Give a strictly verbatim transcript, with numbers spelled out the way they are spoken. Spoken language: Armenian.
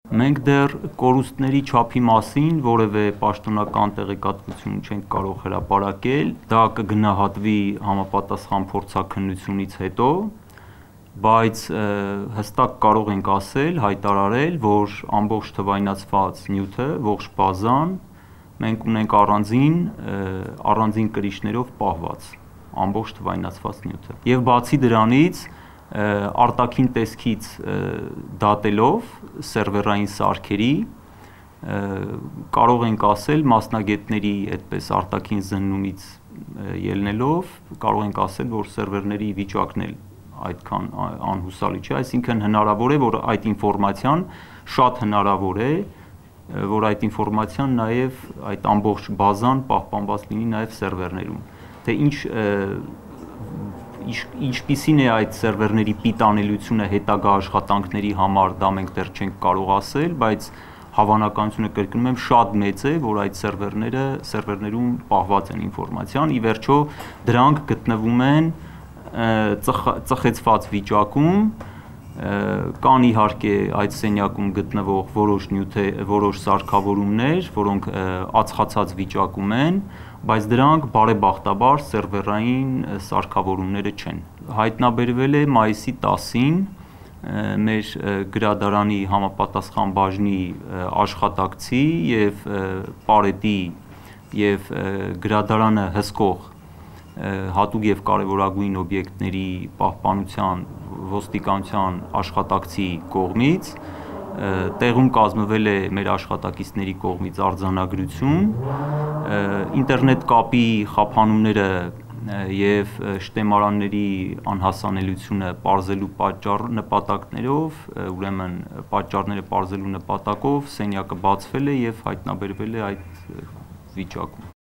Մենք դեռ կորուստների չափի մասին որևէ պաշտոնական տեղեկատվություն չենք կարող հրապարակել, դա կգնահատվի համապատասխան փորձաքննությունից հետո, բայց հստակ կարող ենք ասել, հայտարարել, որ ամբողջ թվայնացված նյութը, ողջ բազան մենք ունենք առանձին, առանձին կրիչներով պահված, ամբողջ թվայնացված նյութը։ Եվ բացի դրանից արտաքին տեսքից դատելով սերվերային սարքերի կարող ենք ասել մասնագետների այդպես արտաքին զննումից ելնելով կարող ենք ասել, որ սերվերների վիճակն էլ այդքան անհուսալի չէ, այսինքն հնարավոր է, որ այդ ինֆորմացիան շատ հնարավոր է, որ այդ ինֆորմացիան նաև այդ ամբողջ բազան պահպանված լինի նաև սերվերներում, թե ինչ ինչպիսին է այդ սերվերների պիտանելիությունը հետագա աշխատանքների համար, դա մենք դեռ չենք կարող ասել, բայց հավանականությունը կրկնում եմ շատ մեծ է, որ այդ սերվերները սերվերներում պահված են ինֆորմացիան, ի վերջո դրանք գտնվում են ծխեցված վիճակում, կան իհարկե այդ սենյակում գտնվող որոշ նյութեր, որոշ սարքավորումներ, որոնք ածխացած վիճակում են, բայց դրանք բարեբախտաբար սերվերային սարքավորումները չեն։ Հայտնաբերվել է մայիսի տասին մեր գրադարանի համապատասխան բաժնի աշխատակցի և պարետի և գրադարանը հսկող հատուկ և կարևորագույն օբյեկտների պահպանության ոստիկանության աշխատակցի կողմից, տեղում կազմվել է մեր աշխատակիցների կողմից արձանագրություն, ինտերնետ կապի խափանումները և շտեմարանների անհասանելիությունը պարզելու նպատակներով, ուրեմն պատճառները պարզելու նպատակով սենյակը բացվել է և հայտնաբերվել է այդ վիճակում։